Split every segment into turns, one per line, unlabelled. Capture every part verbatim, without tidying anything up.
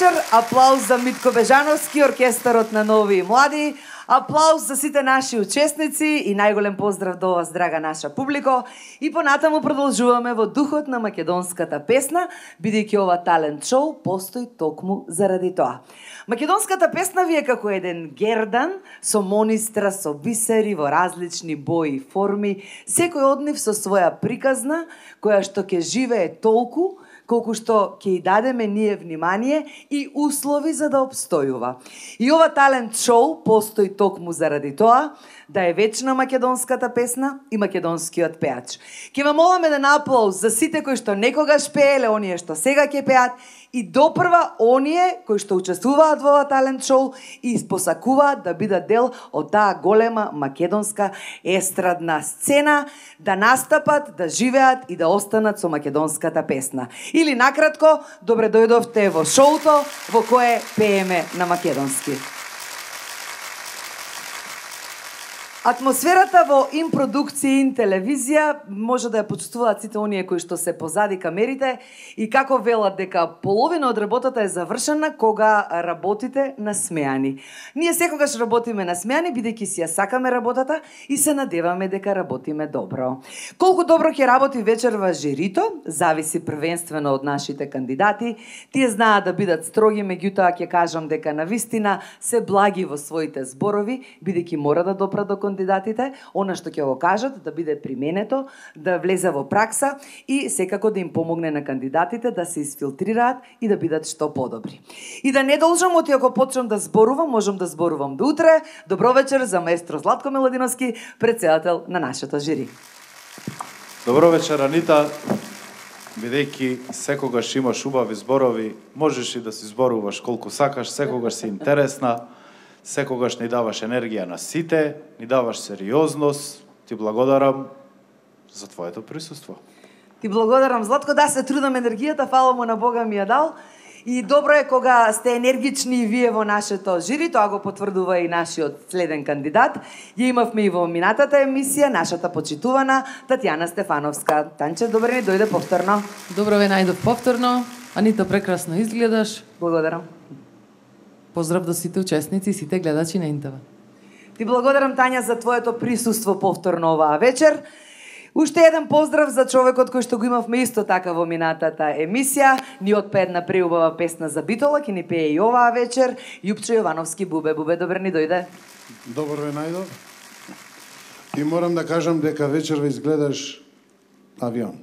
вечер, аплауз за Митко Бежановски, оркестарот на Нови и Млади, аплауз за сите наши учесници и најголем поздрав до вас, драга наша публико. И понатаму продолжуваме во духот на македонската песна, бидејќи ова талент шоу постои токму заради тоа. Македонската песна ви е како еден гердан со монистра, со бисери во различни бои и форми, секој од нив со своја приказна, која што ќе живее толку колку што ќе и дадеме ние внимание и услови за да обстојува. И ова талент шоу постои токму заради тоа да е вечна македонската песна и македонскиот пеач. Ќе ве молам еден аплауз за сите кои што некогаш пееле, оние што сега ќе пеат, и допрва оние кои што учествуваат во ова талент шоу и посакуваат да бидат дел од таа голема македонска естрадна сцена, да настапат, да живеат и да останат со македонската песна. Или накратко, добре дојдовте во шоуто во кое пееме на македонски. Атмосферата во Импродукција и телевизија може да ја почувствуваат сите оние кои што се позади камерите и како велат дека половина од работата е завршена кога работите насмеани. Ние секогаш работиме насмеани бидејќи си ја сакаме работата и се надеваме дека работиме добро. Колку добро ќе работи вечерва жирито, зависи првенствено од нашите кандидати. Тие знаат да бидат строги, меѓутоа ќе кажам дека навистина се благи во своите зборови, бидејќи мора да допра до кандидатите, она што ќе го кажат да биде применето, да влезе во пракса и секако да им помогне на кандидатите да се изфилтрираат и да бидат што подобри. И да не должам, оти ако почнам да зборувам, можам да зборувам до утре. Добро вечер за маестро Златко Миладиновски, претседател на нашето жири.
Добро вечер, Анита. Бидејќи секогаш имаш убави зборови, можеш и да си зборуваш колку сакаш, секогаш си интересна. Секогаш ни даваш енергија на сите, ни даваш сериозност. Ти благодарам за твоето присуство.
Ти благодарам, Златко, да се трудам енергијата, фала му на Бога ми ја дал. И добро е кога сте енергични и вие во нашето жири, тоа го потврдува и нашиот следен кандидат. Ја имавме и во минатата емисија, нашата почитувана Татјана Стефановска. Танче, добре ни дојде повторно.
Добро ве најдов повторно. Анита, прекрасно изгледаш.
Благодарам.
Поздрав до сите учесници и сите гледачи на Интава.
Ти благодарам, Тања, за твоето присуство повторно оваа вечер. Уште еден поздрав за човекот кој што го имавме исто така во минатата емисија. Ни отпе една преубава песна за Битола, ќе ни пее и оваа вечер. Јупчо Јовановски, Бубе. Бубе, добре ни дојде.
Добро ве најдов. И морам да кажам дека вечерва изгледаш авион.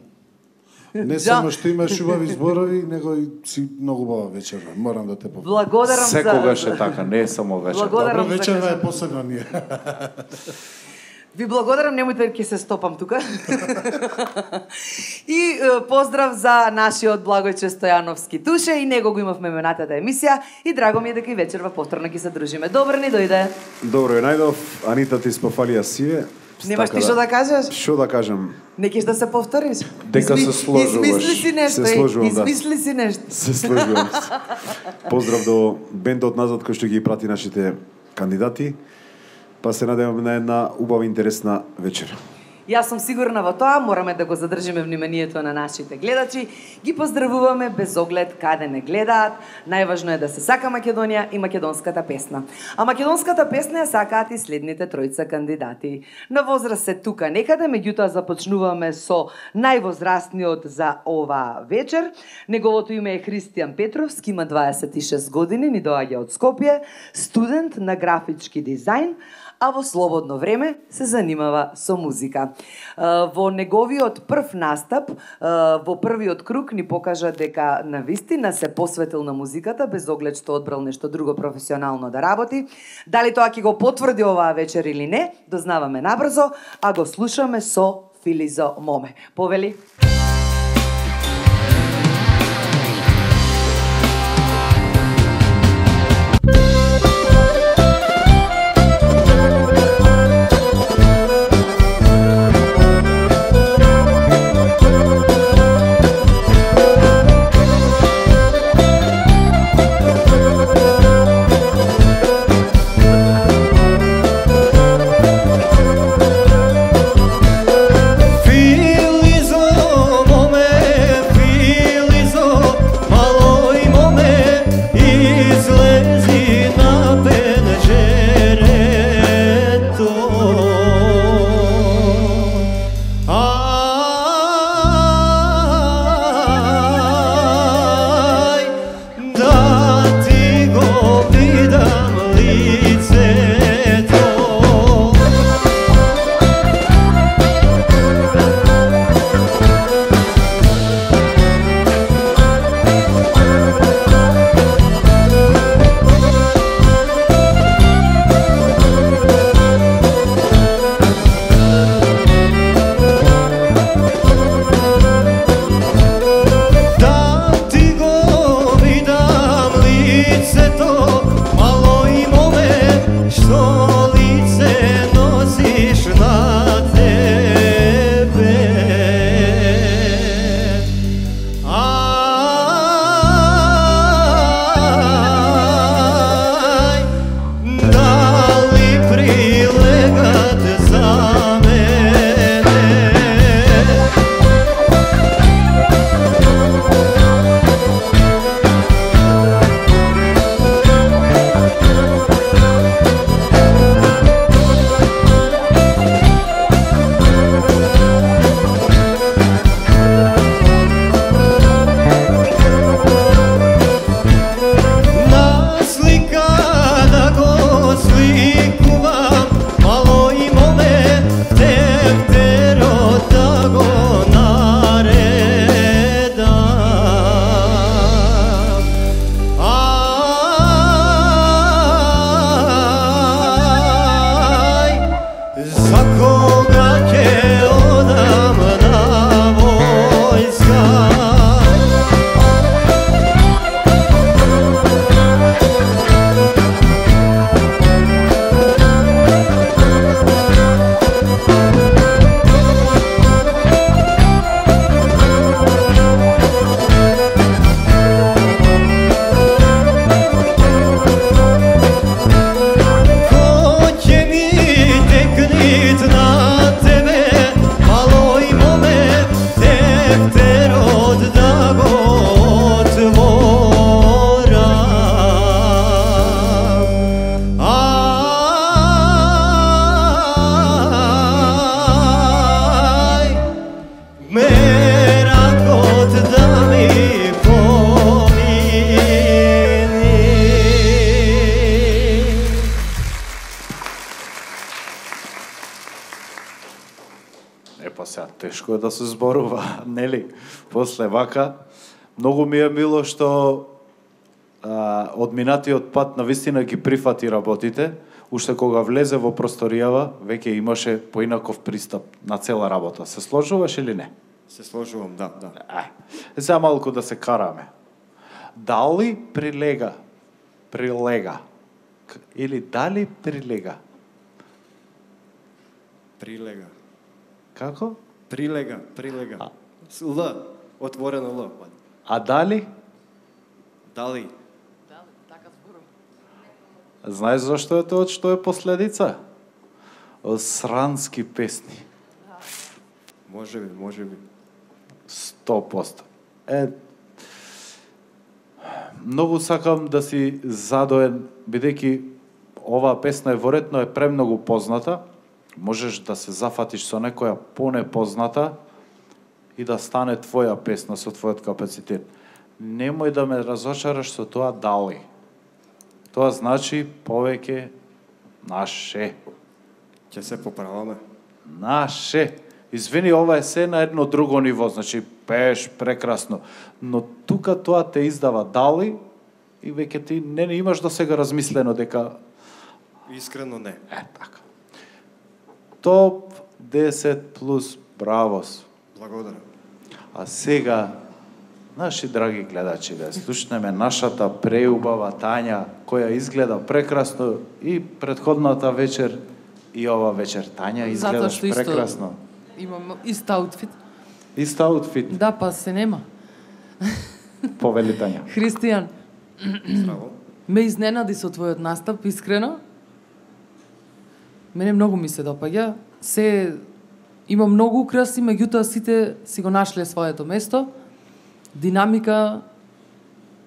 Не само што имаш убави зборови, него и си многу убава вечерва. Морам да те попитам.
Благодарам за...
Секогаш е така, не е само вечер.
Добро, вечерва е посебна ние.
Ви благодарам, немојте ќе се стопам тука. И поздрав за нашиот Благојче Стојановски Туше, и него го имавме минатата емисија и драго ми е дека и вечерва повторно ќе се дружиме. Добро ни дојде.
Добро е најдов. Анита, ти спофалија сиве.
Немаш ти што да кажеш?
Што да кажам?
Не кеш да се повториш?
Дека се сложуваш.
Измисли си нешто,
се сложувам,
измисли си нешто.
Се сложувам. Поздрав до бендот назад кој што ги прати нашите кандидати. Па се надеваме на една убава интересна вечер.
Јас сум сигурна во тоа, мораме да го задржиме вниманието на нашите гледачи. Ги поздравуваме без оглед каде не гледаат. Најважно е да се сака Македонија и македонската песна. А македонската песна ја сакаат и следните тројца кандидати. На возраст се тука некаде, меѓутоа започнуваме со највозрастниот за ова вечер. Неговото име е Христијан Петровски, има дваесет и шест години, ни доаѓа од Скопје, студент на графички дизајн, а во слободно време се занимава со музика. Во неговиот прв настап, во првиот круг ни покажа дека навистина се посветил на музиката, без оглед што одбрал нешто друго професионално да работи. Дали тоа ќе го потврди оваа вечер или не, дознаваме набрзо, а го слушаме со Филизо Моме. Повели?
Filizo лефтерот да го отворам. Ај, меракот да ми помини.
Епа сега, тешко е да се зборува, нели? После вака, многу ми е мило што а, од минатиот пат на вистина ги прифати работите, уште кога влезе во просторијава, веќе имаше поинаков пристап на цела работа. Се сложуваш или не?
Се сложувам, да, да.
Е, сега малку да се караме. Дали прилега? Прилега. К- Или дали прилега?
Прилега.
Како?
Прилега, прилега.
А.
С Л, отворено Л.
А дали?
Дали?
Знаеш зашто е тоа, што е последица? Од срански песни.
Може би, може би.
сто проценти. Е, многу сакам да си задоен, бидејќи оваа песна е веројатно е премногу позната, можеш да се зафатиш со некоја понепозната и да стане твоја песна со твојот капацитет. Немој да ме разочараш со тоа дали. Тоа значи повеќе наше.
Ќе се поправаме.
Наше. Извини, ова е се на едно друго ниво, значи пееш прекрасно, но тука тоа те издава дали и веќе ти не, не имаш до сега размислено дека
Искрено не.
е така. Топ десет плюс бравос.
Благодарам.
А сега, наши драги гледачи, да слушнеме нашата преубава Тања, која изгледа прекрасно и предходната вечер и ова вечер. Тања,
Затоа
изгледаш
што исто
прекрасно.
имам ист аутфит.
Ист аутфит,
Да, па се нема.
повели Тања.
Христијан,
Здраво.
ме изненади со твојот настап, искрено. Мене многу ми се допаѓа. Се има многу украси, меѓутоа сите си го нашле своето место. Динамика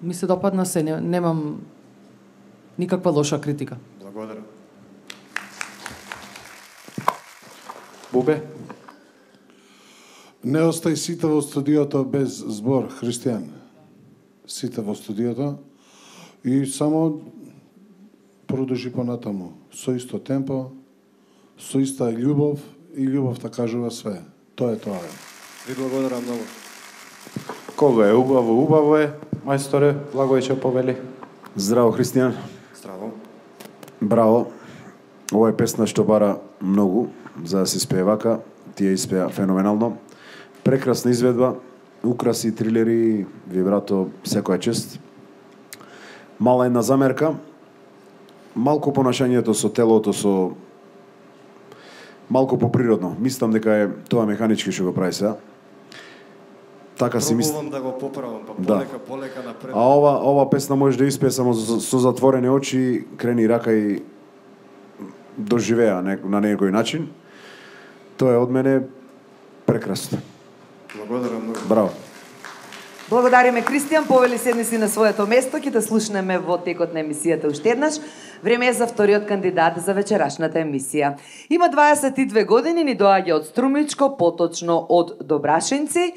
ми се допадна се, не- немам никаква лоша критика.
Благодарам.
Бубе?
Не остај сите во студиото без збор, Христијан. Сите во студиото и само продолжи понатаму со исто темпо, со иста љубов и љубовта кажува све. Тоа е тоа.
Ви благодарам многу.
Кого е убаво, убаво е. Мајсторе, Благојче повели.
Здраво, Христијан.
Здраво.
Браво. Ова е песна што бара многу за да се испее вака. Ти ја испеа феноменално. Прекрасна изведба, украси, трилери, вибрато, секоја чест. Мала една замерка. Малку понашањето со телото, со малку поприродно. Мислам дека е тоа механички што го прави сега. Така си мислам.
Пробувам да го поправам, па
Да.
полека, полека напред.
А ова ова песна може да испее само со, со затворени очи, крени рака и доживеа не, на некој начин. Тоа е од мене прекрасно.
Благодарам многу.
Браво.
Благодариме, Кристијан, повели седни си на своето место, ќе те слушнеме во текот на емисијата уште еднаш. Време е за вториот кандидат за вечерашната емисија. Има дваесет и две години, ни доаѓа од Струмичко, поточно од Добрашинци,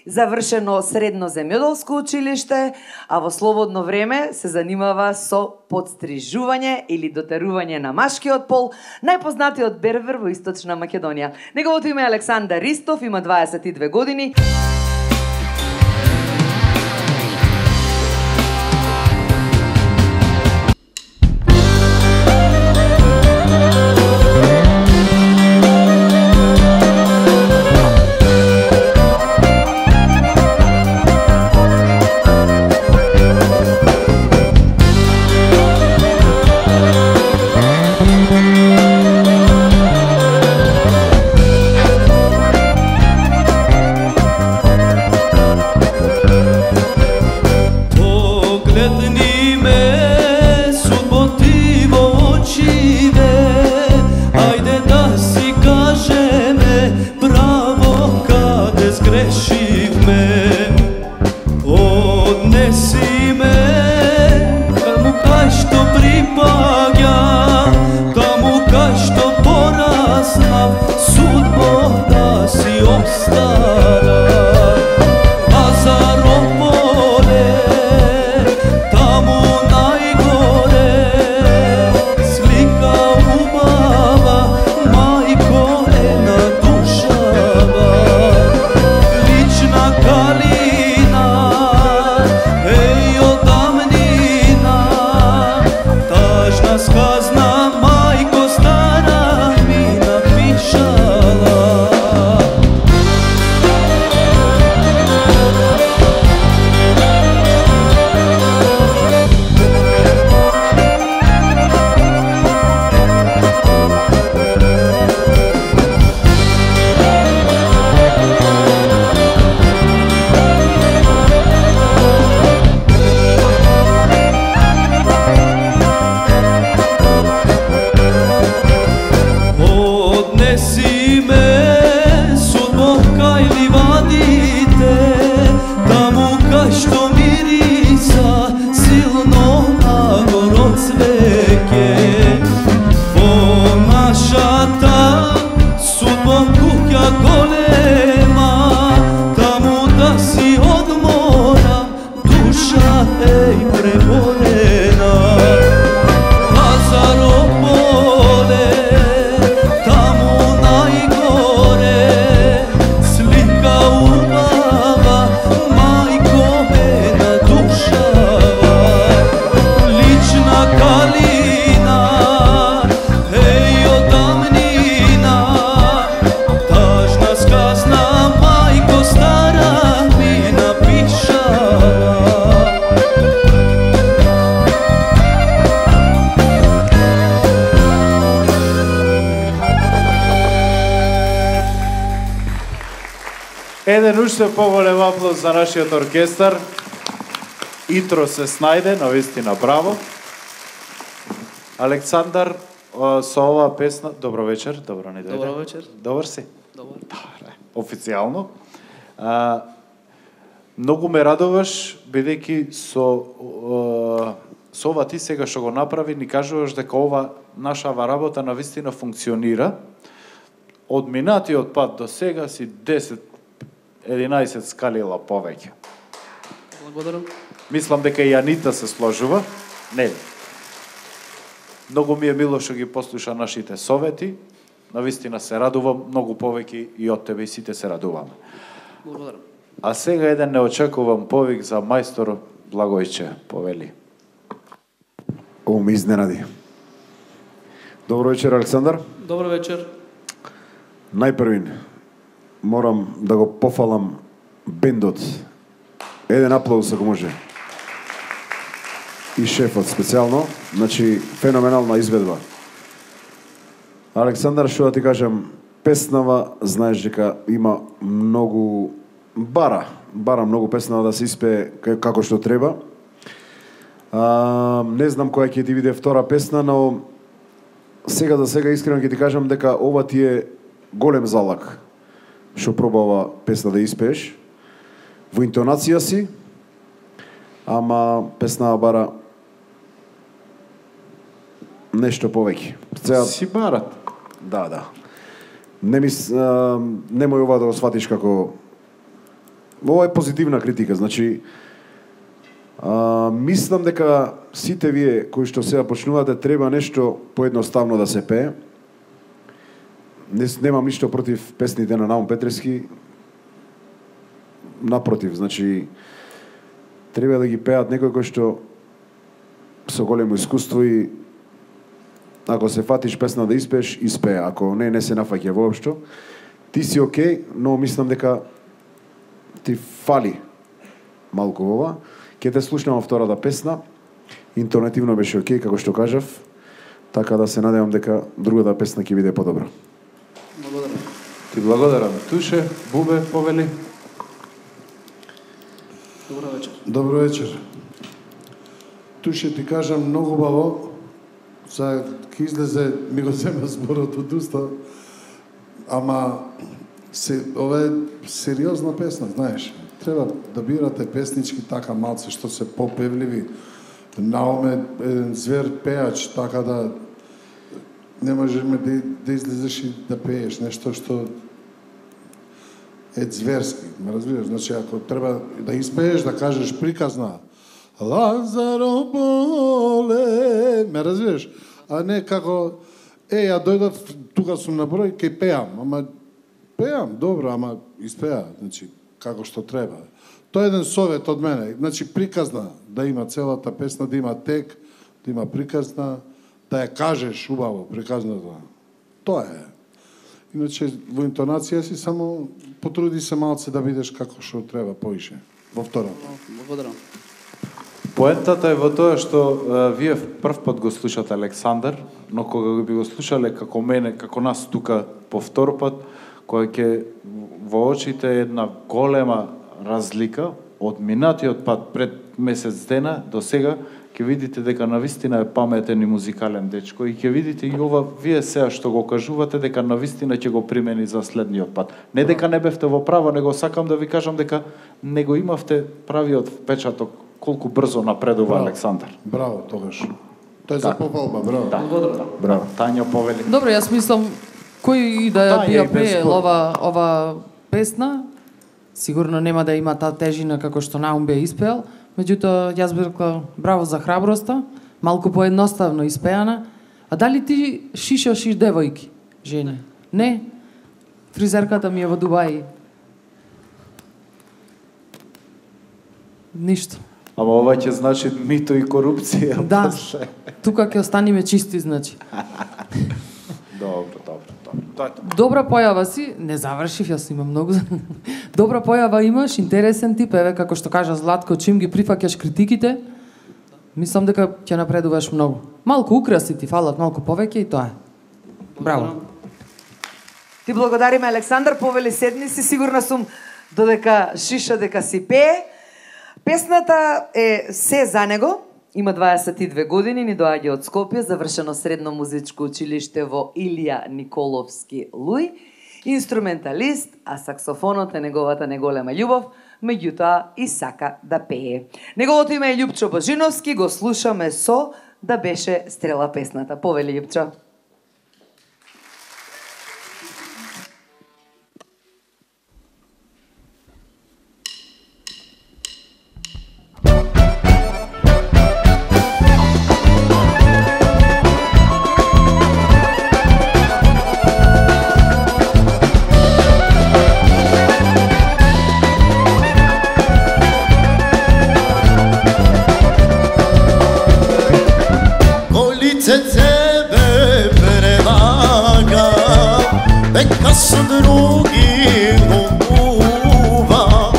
завршено средно земјоделско училиште, а во слободно време се занимава со подстрижување или дотерување на машкиот пол, најпознатиот бербер во Источна Македонија. Неговото име е Александар Ристов, има дваесет и две години.
кај што пораснав, судбо да си остара. Азарополе, таму најгоре, слика убава, мајко една душава. Лична калина, еј од дамнина, тажна сказна, мајко стара ми напишала. Однеси ме, судбо, кај ливадите, таму кај што мириса силно нагоро цвеќе. Во нашата судбо куќа голема, таму да си одмора, душа еј преборена. Азарополе, таму најгоре, слика убава, мајко една душава. Лична калина, еј од дамнина, тажна сказна, мајко стара ми напишала.
Еден уште поголем аплауз за нашиот оркестар. Итро се снајде, навистина браво. Александар, о, со оваа песна, добро вечер, добро не дојде.
Добро вечер.
Добар си?
Добар.
Добре, официјално. А, многу ме радуваш, бидејќи со о, со ова ти сега што го направи, ни кажуваш дека ова нашава работа навистина функционира. Од минатиот пат до сега си десет единаесет скалила повеќе.
Благодарам.
Мислам дека и Анита се сложува. Не. Многу ми е мило што ги послуша нашите совети. Навистина се радувам многу повеќе и од тебе и сите се радуваме.
Благодарам.
А сега еден неочекуван повик за мајстор Благојче, повели.
Ово ме изненади. Добро вечер, Александар.
Добро вечер.
Најпрвин морам да го пофалам бендот. Еден аплауз ако може. И шефот специјално, значи феноменална изведба. Александар, што да ти кажам, песнава, знаеш дека има многу бара, бара многу песнава да се испее како што треба. А, не знам која ќе ти биде втора песна, но сега за сега искрено ќе ти кажам дека ова ти е голем залак што проба ова песна да испееш во интонација си, ама песна бара нешто повеќе. Сега
Си барат.
да, да. Не мис а, немој ова да го сватиш како ова е позитивна критика, значи а, мислам дека сите вие кои што сега почнувате треба нешто поедноставно да се пее. Не, немам ништо против песните на Наум Петрески. Напротив, значи треба да ги пеат некој кој што со големо искуство и ако се фатиш песна да испееш, испее. Ако не, не се нафаќа воопшто. Ти си окей, но мислам дека ти фали малку ова. Ке те слушнам втората песна. Интонативно беше окей, како што кажав. Така да се надевам дека другата песна ќе биде подобра.
Благодарам.
Ти благодарам. Туше, Бубе, повели.
Добро вечер.
Добро вечер. Туше ти кажам многу баво. За ке излезе, ми го зема зборот од уста. Ама се, ова е сериозна песна, знаеш. Треба да бирате песнички така малце што се попевливи. Науме еден звер пеач, така да не можеш да, да излезеш и да пееш нешто што е зверски, ме разбираш? Значи, ако треба да испееш, да кажеш приказна Лазаро боле, ме разбираш? А не како, е, ја дојдат, тука сум на број, кај пеам, ама пеам, добро, ама испеа, значи, како што треба. Тоа е еден совет од мене, значи, приказна, да има целата песна, да има тек, да има приказна, да ја кажеш убаво, приказната. Тоа е. Иначе, во интонација си само потруди се малце да видиш како што треба поише. Во втората.
Благодарам.
Поентата е во тоа што е, вие прв пат го слушате Александар, но кога би го слушале како мене, како нас тука по втор пат, која ќе во очите е една голема разлика од минатиот пат пред месец дена до сега, ќе видите дека навистина е паметен и музикален дечко и ќе видите и ова вие сега што го кажувате дека навистина ќе го примени за следниот пат. Не дека не бевте во право, него сакам да ви кажам дека не го имавте правиот впечаток колку брзо напредува
Браво.
Александар.
Браво, тогаш. Тоа е за попалба, браво.
Да.
Благодарам.
Браво. Тања повели.
Добро, јас мислам кој и да ја
Тања
би
и
ја
без
пеел
спор.
ова ова песна, сигурно нема да има таа тежина како што Наум бе испеал, меѓутоа јас би рекла браво за храброста, малку поедноставно испеана. А дали ти шишаш и девојки, жени? Не. Фризерката ми е во Дубај. Ништо.
Ама ова ќе значи мито и корупција.
Да.
после.
Тука ќе останеме чисти, значи.
Добро, добро, добро. Тоа е тоа.
Добра појава си, не завршив, јас имам многу. Добра појава имаш, интересен тип, еве како што кажа Златко, чим ги прифаќаш критиките, мислам дека ќе напредуваш многу. Малку украси ти фалат, малку повеќе и тоа е. Браво.
Ти благодариме, Александар, повели седни си, сигурна сум додека шиша дека си пее. Песната е се за него, има дваесет и две години, ни доаѓа од Скопје, завршено средно музичко училиште во Илија Николовски Луј, инструменталист, а саксофонот е неговата неголема љубов, меѓутоа и сака да пее. Неговото име е Љупчо Божиновски, го слушаме со "Да беше стрела" песната. Повели, Љупчо.
Tebe prevaga, neka su drugi ljubav,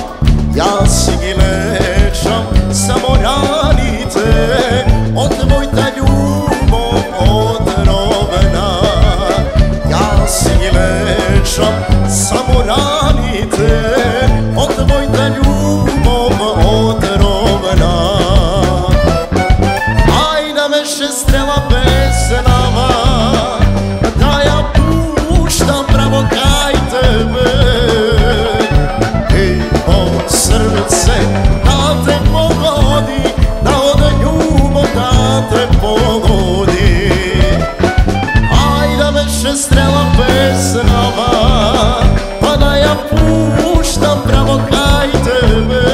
ja si gi lečam samo ranite, od mojta ljubov odrovena, ja si gi lečam samo ranite, od mojta ljubov odrovena. Strela pesnama, da ja puštam pravo kaj tebe, i po srce da te pogodi, da od ljubav da te pogodi. Ajde veše strela pesnama, pa da ja puštam pravo kaj tebe,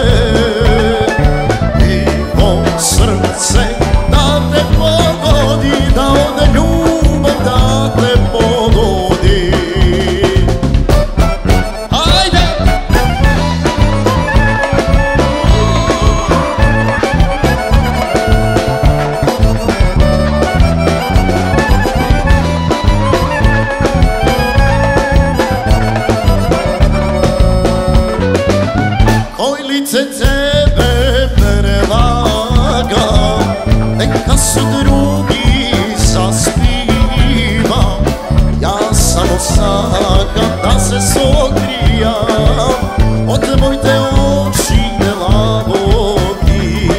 i po srce da te pogodi, da od ljubav da te pogodi. Ajde! Koj lice tebe prevaga, neka su drugi zaspiva, ja samo sakam da se sogrijam od tvojte oči lavogi.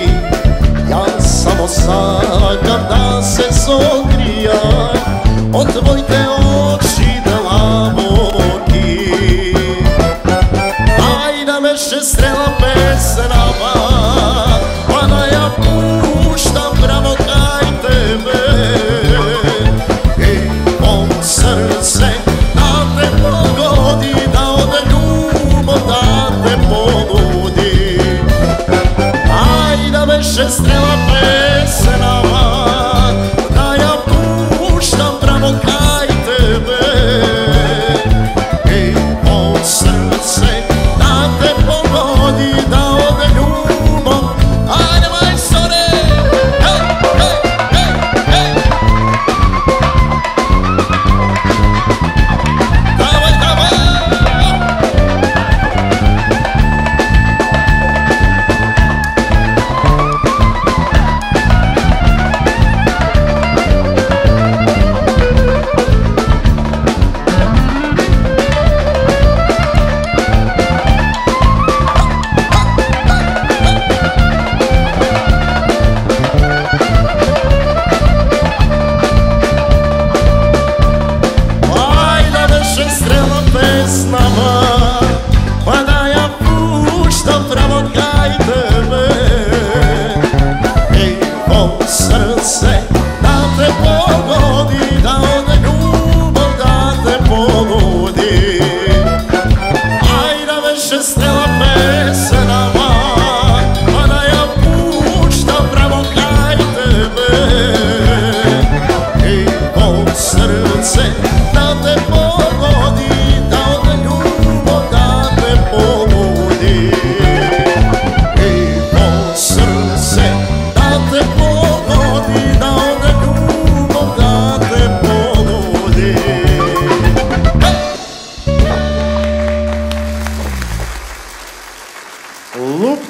Ja samo sakam da se sogrijam od tvojte oči lavogi. Ajde veše strela pesnama, pa da ja puštam pravo kaj tebe, i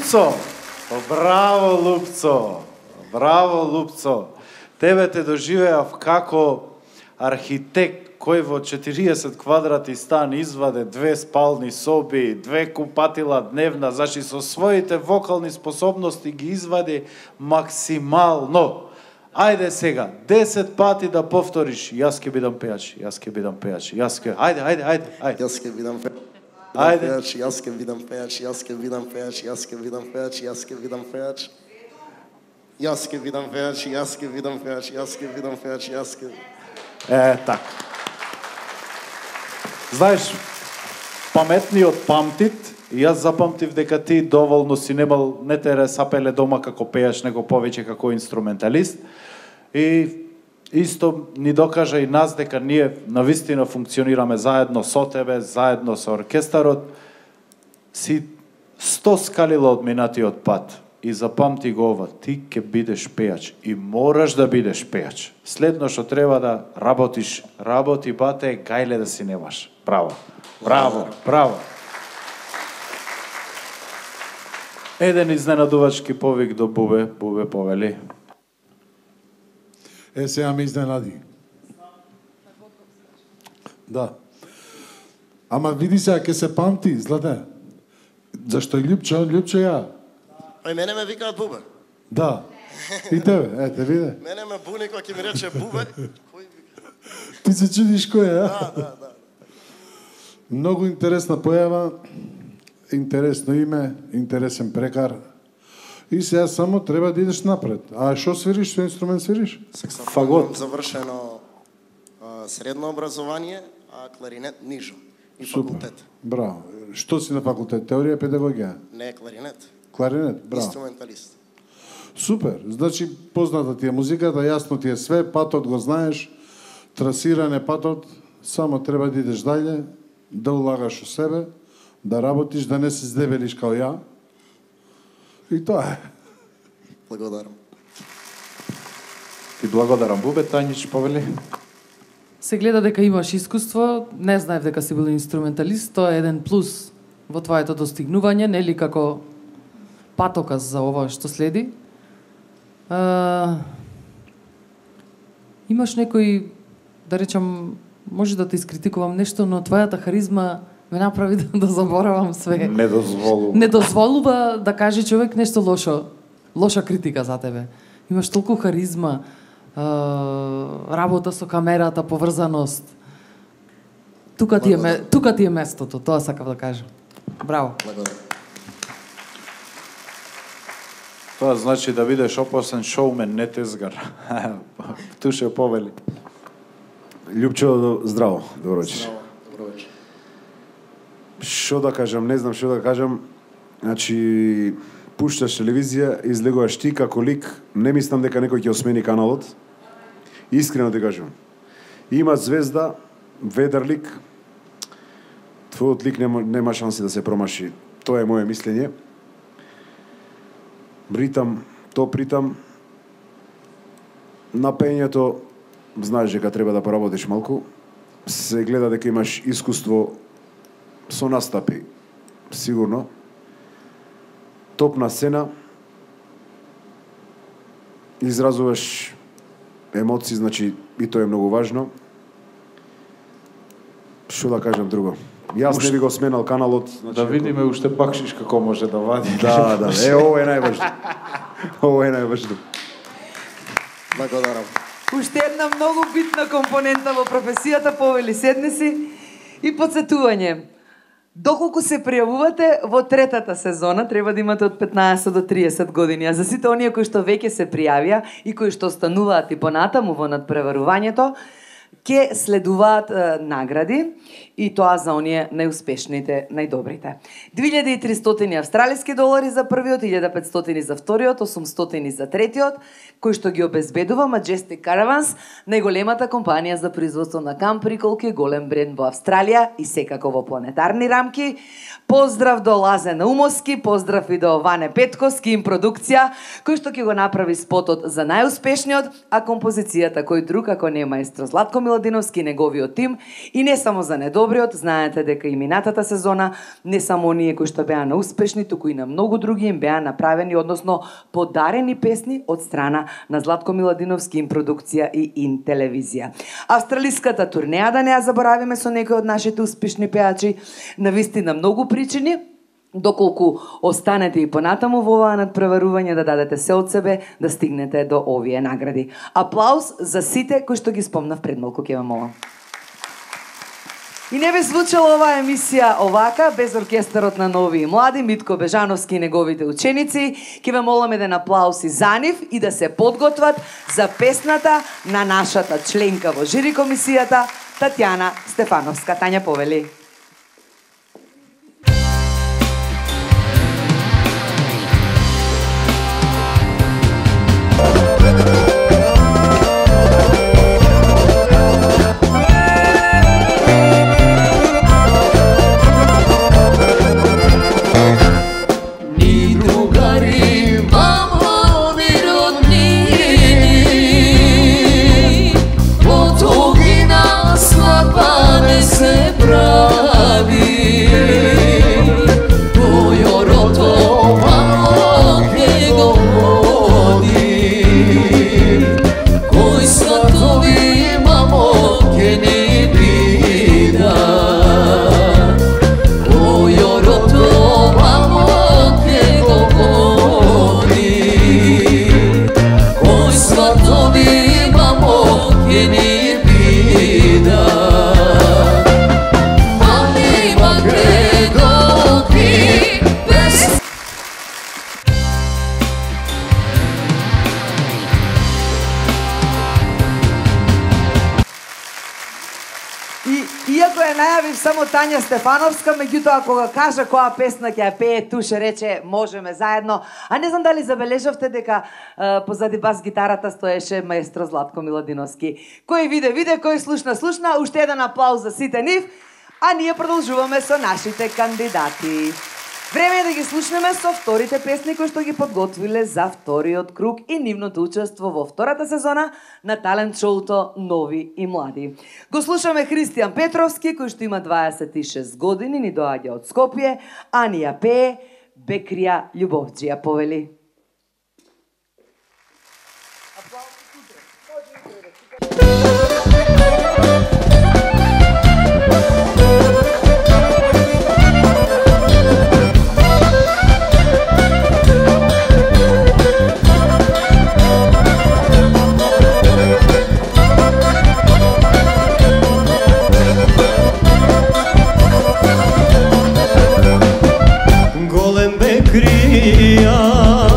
Лупцо! Браво, Лупцо! Браво, Лупцо! Тебе те доживеав како архитект кој во четириесет квадрати стан изваде две спални соби, две купатила дневна, значи со своите вокални способности ги извади максимално. Ајде сега, десет пати да повториш, јас ќе бидам пејач, јас ќе бидам пејач, јас ќе... Ајде, ајде, ајде, ајде.
Јас ќе бидам пејач.
Ајде.
Јас ќе бидам пејач, јас ќе бидам пејач, јас ќе бидам пејач, јас ќе бидам пејач. Јас ќе бидам пејач, јас ќе бидам пејач, јас ќе бидам пејач, јас ќе...
Е, така. Знаеш, паметниот памтит, и јас запамтив дека ти доволно си немал, не те ресапеле дома како пејач, него повеќе како инструменталист. И исто ни докажа и нас дека ние навистина функционираме заедно со тебе, заедно со оркестарот. Си сто скалила од минатиот пат. И запамти го ова, ти ќе бидеш пејач и мораш да бидеш пејач. Следно што треба да работиш, работи бате, гајле да си немаш. Браво. Браво, браво. Еден изненадувачки повик до Бубе, Бубе повели.
Е, сега ме изненади. Да. Ама види сега, ке се памти, Злате. Зашто и Љупчо, Љупчо ја.
Ај мене ме викаат Бубе.
Да. И тебе, е, те виде.
Мене ме буни кога ќе ми рече Бубе. Кој вика?
Ти се чудиш кој е, а?
Да, да, да.
Многу интересна појава, интересно име, интересен прекар. И сега само треба да идеш напред. А што свириш, што инструмент свириш?
Саксофон имам завршено а, средно образование, а кларинет нижо. И факултет.
Браво. Што си на факултет? Теорија, педагогија?
Не, кларинет.
Кларинет, браво.
Инструменталист.
Супер. Значи, позната ти е музиката, јасно ти е све, патот го знаеш, трасиран е патот, само треба да идеш дајле, да улагаш у себе, да работиш, да не се здебелиш као ја. И тоа е.
Благодарам.
Ти благодарам, Бубе, Тањич повели.
Се гледа дека имаш искуство, не знаев дека си бил инструменталист, тоа е еден плюс во твоето достигнување, нели како патоказ за ова што следи. А, имаш некој, да речам, може да те искритикувам нешто, но твојата харизма ме направи да, да заборавам све.
Не дозволува.
Не дозволува да каже човек нешто лошо, лоша критика за тебе. Имаш толку харизма, а, работа со камерата, поврзаност. Тука ти е, тука ти е местото, тоа сакав да кажам. Браво.
Благодарам.
Тоа значи да бидеш опасен шоумен, не тезгар. Туше повели.
Љупчо, здраво, добро вечер.
Здраво, добро вечер.
Што да кажам, не знам што да кажам. Значи, пушташ телевизија, излегуваш ти како лик, не мислам дека некој ќе осмени каналот. Искрено ти кажам. Има звезда, ведар лик, твојот лик нема, нема шанси да се промаши. Тоа е моје мислење. Ритам, топ ритам. На пењето, знаеш дека треба да поработиш малку. Се гледа дека имаш искуство со настапи, сигурно. Топ на сцена. Изразуваш емоции, значи и тоа е многу важно. Што да кажам друго? Јас не би го сменал каналот. Значи,
Да видиме уште бакшиш како може да вади.
Да, да. Е, ово е најважно. Ово е најважно.
Благодарам.
Уште една многу битна компонента во професијата, повели седни си и подсетување. Доколку се пријавувате во третата сезона, треба да имате од петнаесет до триесет години, а за сите оние кои што веќе се пријавија и кои што остануваат и понатаму во надпреварувањето, ќе следуваат е, награди и тоа за оние најуспешните, најдобрите. две илјади и триста австралиски долари за првиот, илјада и петстотини за вториот, осумстотини за третиот, кој што ги обезбедува Majestic Caravans, најголемата компанија за производство на кампери, колку е голем бренд во Австралија и секако во планетарни рамки. Поздрав до Лазе Наумовски, поздрав и до Ване Петковски, им продукција, кој што ќе го направи спотот за најуспешниот, а композицијата кој друг ако не маестро Златко Златко Миладиновски и неговиот тим, и не само за недобриот, знаете дека и минатата сезона не само оние кои што беа неуспешни, туку и на многу други им беа направени, односно подарени песни од страна на Златко Миладиновски им продукција и ин телевизија. Австралиската турнеја, да не ја заборавиме, со некои од нашите успешни пеачи, навистина многу причини, доколку останете и понатаму во оваа надпреварување да дадете се од себе да стигнете до овие награди. Аплауз за сите кои што ги спомнав пред малку, ќе ве молам. И не би звучала оваа емисија овака, без оркестарот на Нови и Млади, Митко Бежановски и неговите ученици. Ќе ве молам еден аплауз и за нив и да се подготват за песната на нашата членка во жири комисијата, Татјана Стефановска. Тања, повели. Само Тања Стефановска, меѓутоа кога кажа која песна ќе ја пее, туше рече можеме заедно. А не знам дали забележавте дека е, позади бас гитарата стоеше маестро Златко Миладиновски. Кој виде, виде, кој слушна, слушна. Уште еден аплауз за сите нив, а ние продолжуваме со нашите кандидати. Време е да ги слушнеме со вторите песни кои што ги подготвиле за вториот круг и нивното учество во втората сезона на талент шоуто Нови и Млади. Го слушаме Христијан Петровски, кој што има дваесет и шест години, ни доаѓа од Скопје, а ни ја пее Бекрија Љубовџија, повели.
Голем Бекрија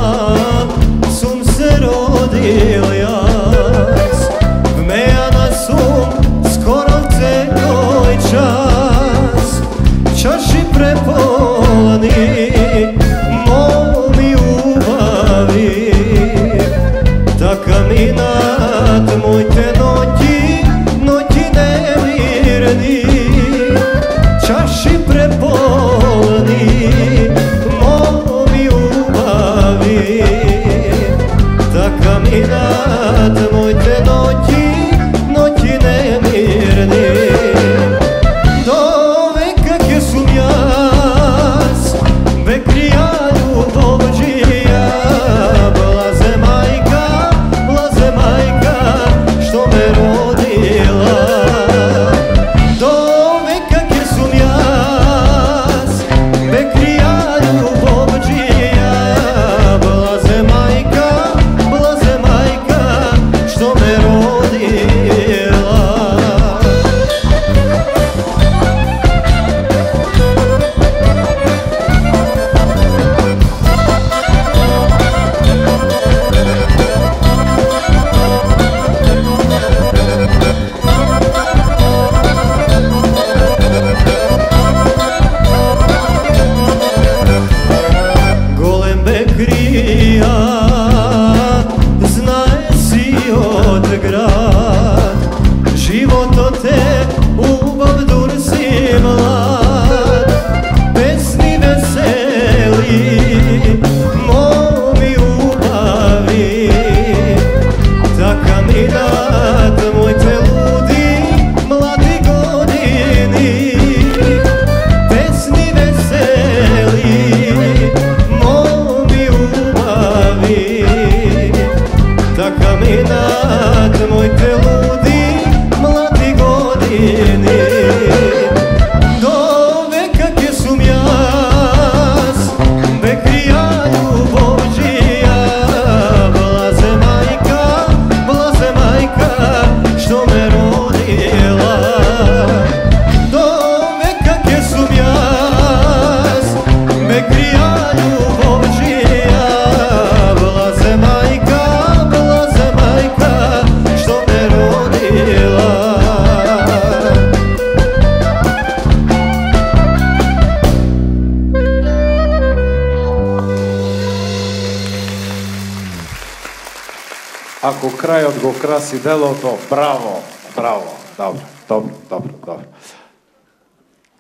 Ако крајот го краси делото, браво, браво, добро, добро, добро, добро.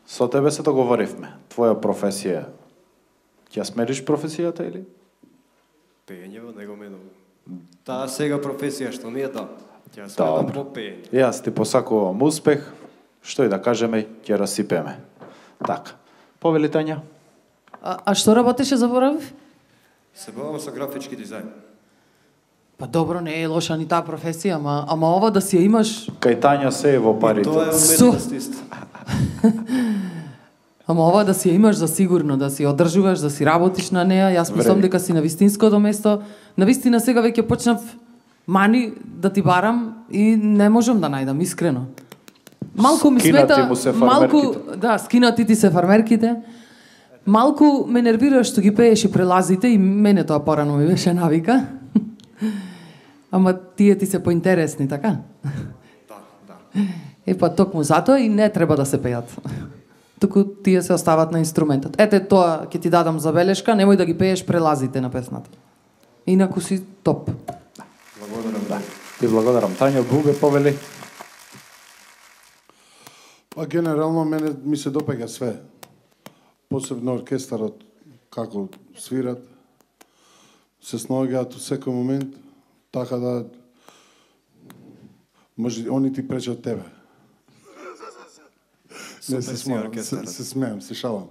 Со тебе се договоривме. Твоја професија. Ќе смениш професијата или?
Пеење, него мене. Таа сега професија што ми е та. Ќе сменам по пеење.
Јас ти посакувам успех. Што и да кажеме, ќе расипеме. Така. Повели Тања?
А, а што работеше, заборавив?
Се бавам со графички дизајн.
Па добро, не е лоша ни таа професија, ама, ама ова да си ја имаш...
Кај Тања се е во парите.
И тоа е уметност исто.
Ама ова да си ја имаш за сигурно, да си одржуваш, да си работиш на неа, јас мислам дека си на вистинското место. На вистина сега веќе почнав мани да ти барам и не можам да најдам, искрено. Малку ми
Скинати
смета,
му се
малку,
фармерките.
да, скинати ти се фармерките. Малку ме нервира што ги пееш и прелазите и мене тоа порано ми беше навика. Ама тие ти се поинтересни, така?
Да, да.
Е, па токму затоа и не треба да се пеат. Туку тие се остават на инструментот. Ете тоа ќе ти дадам забелешка, немој да ги пееш прелазите на песната. Инаку си топ.
Благодарам, да.
И благодарам. Тања Бубе повели.
Па генерално мене ми се допаѓа све. Посебно оркестарот, како свират, се снаоѓаат во секој момент, така да може они ти пречат тебе. Не се смеам, се, се смеам, се шалам.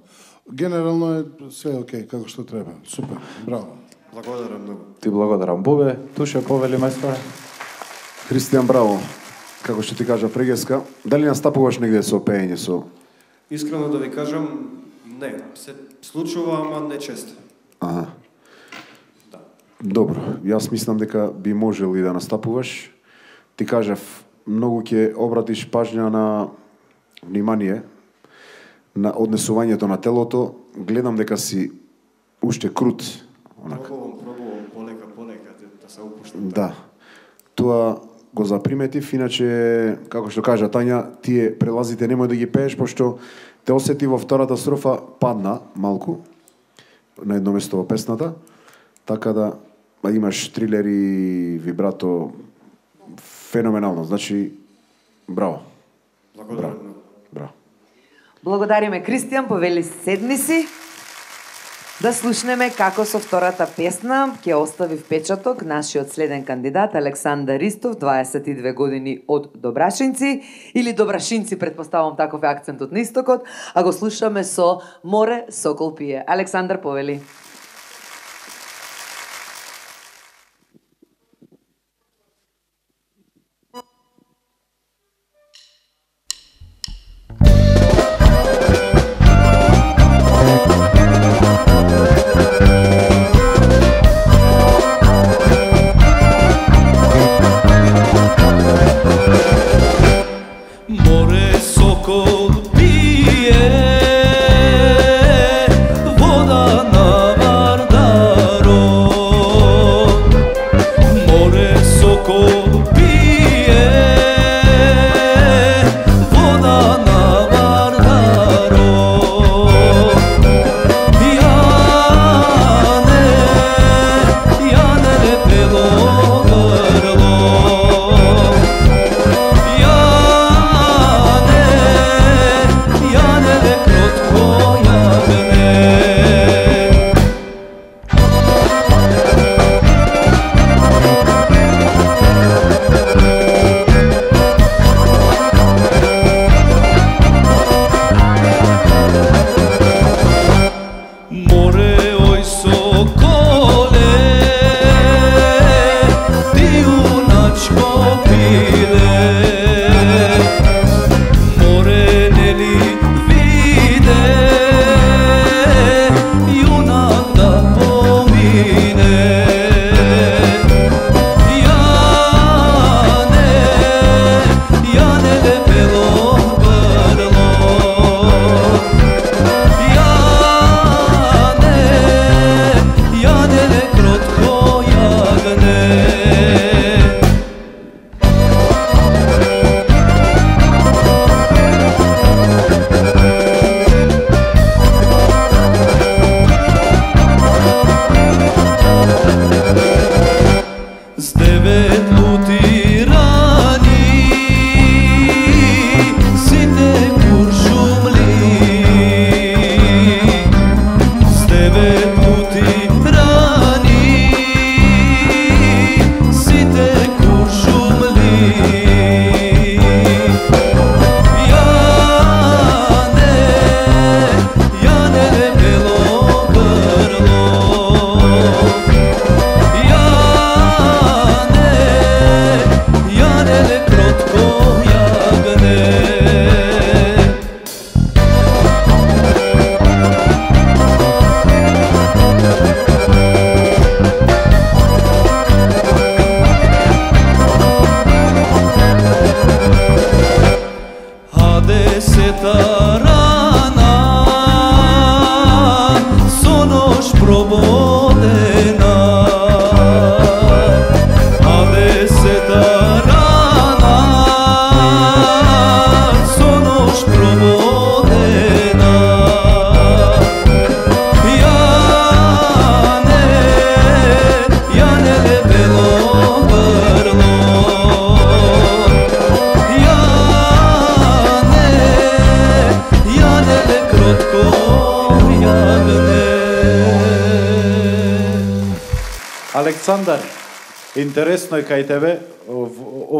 Генерално е све окей, како што треба. Супер, браво.
Благодарам многу.
Ти благодарам Бубе. Туше повели мајсторе.
Христијан, браво. Како што ти кажа прегеска, дали настапуваш негде со пеење со?
Искрено да ви кажам, не, се случува, ама не често.
Аха. Добро, јас мислам дека би можел и да настапуваш. Ти кажав, многу ќе обратиш пажња на внимание на однесувањето на телото. Гледам дека си уште крут. Онака.
Пробувам, пробувам, полека, полека, да се упуштам.
Да. Тоа го заприметив, иначе, како што кажа Тања, тие прелазите немој да ги пееш, пошто те осети во втората строфа падна малку на едно место во песната, така да а имаш трилер и вибрато феноменално. Значи, браво.
Благодарам.
Браво. Браво.
Благодариме Кристијан, повели седни си. Да слушнеме како со втората песна ќе остави впечаток нашиот следен кандидат Александар Ристов, дваесет и две години од Добрашинци, или Добрашинци, претпоставам таков е акцентот на истокот, а го слушаме со Море сокол пие. Александар, повели.
Море сокол пие, вода на Вардаро. Море сокол пие, вода на Вардаро. Јане, јане лепело грло. Море, ој соколе, ти јуначко пиле. Море нели виде, јунак да помине. Јане, јане лепело грло. Јане кротко јагне.
Александар, интересно е кај тебе, во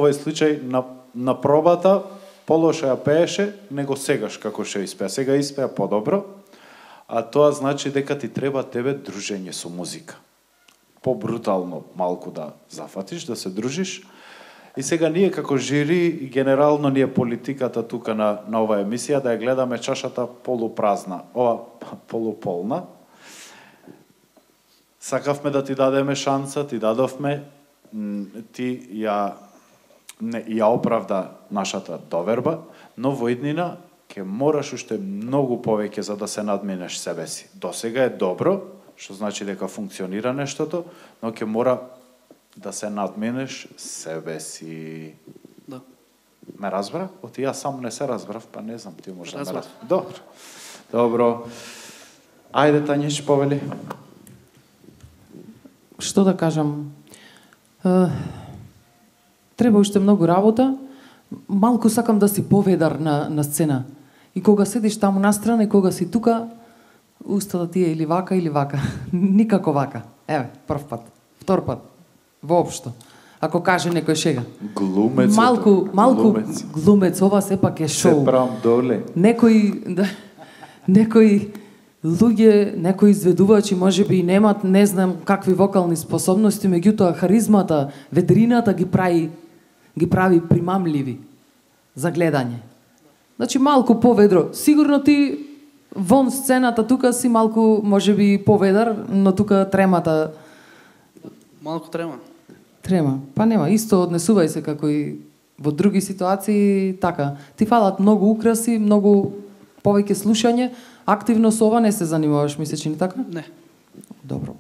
овој случај на, на пробата, полоша ја пееше, него сегаш како што испеа. Сега испеа подобро, а тоа значи дека ти треба тебе дружење со музика. Побрутално малку да зафатиш, да се дружиш. И сега ние како жири, и генерално ние политиката тука на, на оваа емисија, да ја гледаме чашата полупразна, ова полуполна. Сакавме да ти дадеме шанса, ти дадовме, ти ја, не, ја оправда нашата доверба, но во иднина ќе мораш уште многу повеќе за да се надминеш себе си. До сега е добро, што значи дека функционира нештото, но ќе мора да се надминеш себе си.
Да.
Ме разбра? Оти јас сам не се разбрав, па не знам, ти може да ме
Разбрав.
разбрав. Добро. Добро. Ајде, Тањиш, повели.
Што да кажам? Е, треба уште многу работа. Малку сакам да си поведар на, на сцена. И кога седиш таму настрана и кога си тука, устата ти е или вака или вака. Никако вака. Еве, прв пат. Втор пат. Воопшто. Ако каже некој шега.
Глумец.
Малку, малку
глумец.
глумец, ова сепак е шоу.
Се прам доле.
Некои, да, некои луѓе, некои изведувачи можеби и немат, не знам какви вокални способности, меѓутоа харизмата, ведрината ги прави ги прави примамливи за гледање. Значи малку поведро. Сигурно ти вон сцената тука си малку можеби поведар, но тука тремата
Малку трема.
трема. Па нема, исто однесувај се како и во други ситуации, така. Ти фалат многу украси, многу повеќе слушање, активно со ова не се занимаваш, ми се чини така?
Не.
Добро.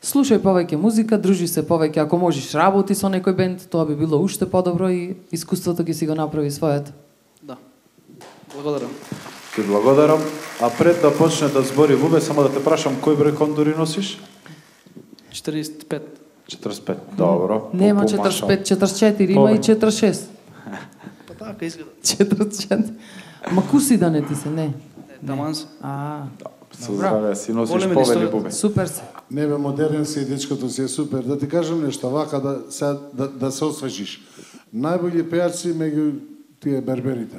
Слушај повеќе музика, дружи се повеќе, ако можеш работи со некој бенд, тоа би било уште подобро и искуството ги си го направи својот.
Да. Благодарам.
Ти благодарам. А пред да почне да збори Бубе, само да те прашам кој број кондури носиш?
четириесет и пет.
четресет и пет. Добро.
Нема
По-
четресет и
помашал.
пет, четресет и четири, има и
Повеќе.
четресет и шест.
Па така изгледа.
четресет и четири. Ма куси да не ти се, не.
Е, таман се.
А,
Со здраве си носиш
Големи
повели
историјата.
Бубе.
супер се.
Не бе, модерен си, дечкото си е супер. Да ти кажам нешто, вака да, сега, да, да се освежиш. Најбољи пејачи меѓу тие берберите.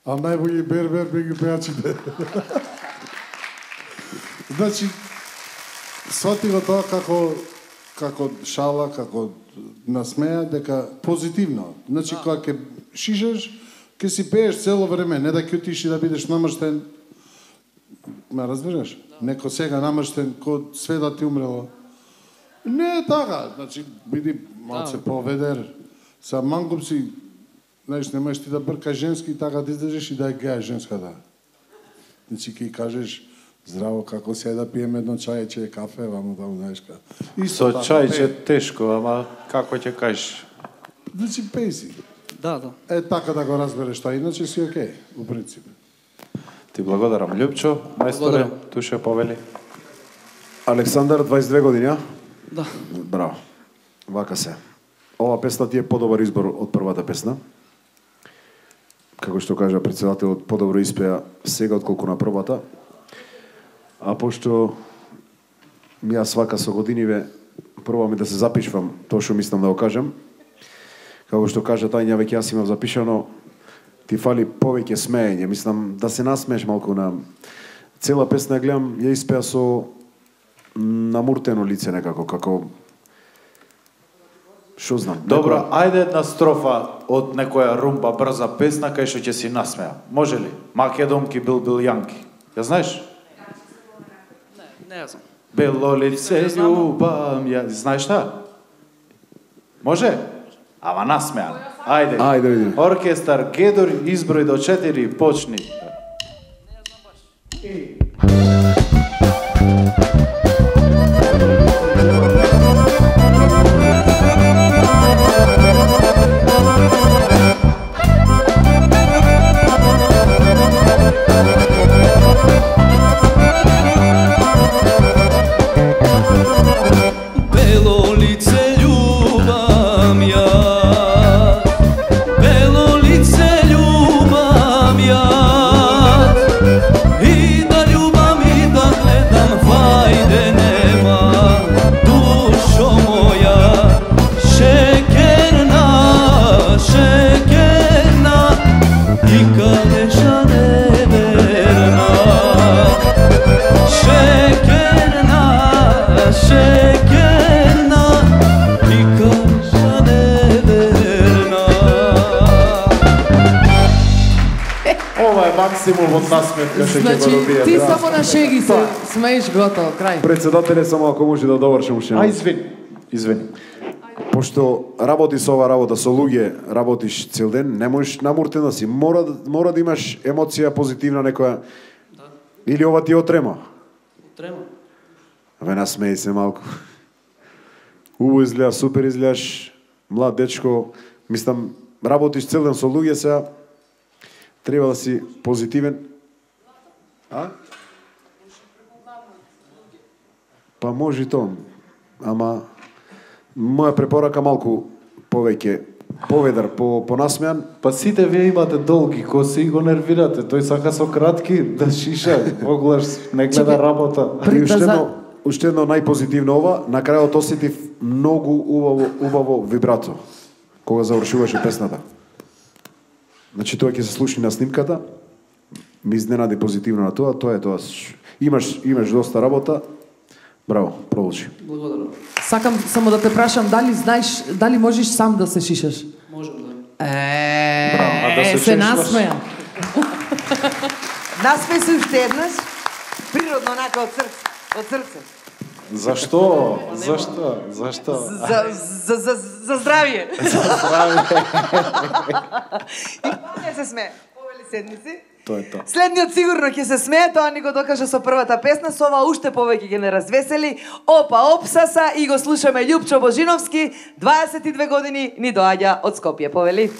А најбољи бербер меѓу пејачите. Значи, свати го тоа како како шала, како насмеја, дека позитивно. Значи, кога ќе шишеш, ќе си пееш цело време, не да ќе отиш и да бидеш намрштен. Ме разбираш? Неко сега намрштен, ко све да ти умрело. Не е така, значи, биди малце поведер. Са мангуп си, знаеш, немаш ти да бркаш женски, така да излезеш и да е геа женската. Значи, ки кажеш, здраво, како се да пиеме едно чајче, кафе, вамо да знаеш ка.
Со чајче тешко, ама како ќе кажеш?
Значи, пеј си.
Да, да.
Е, така да го разбереш тоа, иначе си окей, у принцип.
Ти благодарам, Љупчо, мајсторе,
Благодарам.
туше повели.
Александар, дваесет и две години, а?
Да.
Браво. Вака се. Ова песна ти е подобар избор од првата песна. Како што кажа председателот, подобро испеа сега отколку на првата. А пошто јас вака со годиниве пробам да се запишвам тоа што мислам да го кажам. Како што кажа Тања, веќе јас имам запишано, ти фали повеќе смеење. Мислам да се насмееш малку на цела песна ја гледам, ја испеа со намуртено лице некако, како што знам.
Добро,
некоја-
ајде една строфа од некоја румба брза песна кај што ќе си насмеа. Може ли? Македонки бил бил Јанки. Ја знаеш?
Не, не знам.
Бело лице
Не знам.
љубам ја. Знаеш та? Може? Ама насмеан. Ајде.
Ајде, видиме.
Оркестар Гедор, изброј до четири, почни.
Бело лице љубам ја, бело лице љубам ја, и да љубам и да гледам калеша неверна. Шекерна, шекерна и калеша неверна.
Ова е максимум од насмевка што ќе го
Значи,
добие.
ти
браво.
само на шеги се смееш, готово, крај.
Председателе, само ако може да довршим уште.
А, извини. Извини.
Пошто работи со ова работа, со луѓе работиш цел ден, не можеш намуртен да си. Мора, мора да имаш емоција позитивна некоја.
Да.
Или ова ти отрема?
Трема.
Ве насмеј се малку. Убаво изгледа, супер изгледаш, млад дечко. Мислам, работиш цел ден со луѓе, сега треба да си позитивен. А? Па може и тоа. Ама моја препорака малку повеќе поведар, по понасмеан.
Па сите вие имате долги коси и го нервирате. Тој сака со кратки да шиша, оглаш не гледа работа.
И уште едно, уште едно најпозитивно ова, на крајот осетив многу убаво, убаво вибрато кога завршуваше песната. Значи тоа ќе се слушни на снимката. Ми изненади позитивно на тоа, тоа е тоа. Имаш имаш доста работа. Браво, продолжи.
Благодарам.
Сакам само да те прашам, дали знаеш, дали можеш сам да се шишаш?
Можам да.
Е,
Браво, а да се
се
шишаш?
насмеја.
Насмеј се уште еднаш, природно онака од срце, од срце.
Зашто? Зашто? Зашто?
За, за, за, за здравје.
За здравје.
И не се смее. Повели седници.
Тоа е тоа.
Следниот сигурно ќе се смее, тоа ни го докажа со првата песна, со ова уште повеќе ќе не развесели. Опа, опсаса и го слушаме Љупчо Божиновски, дваесет и две години ни доаѓа од Скопје. Повели.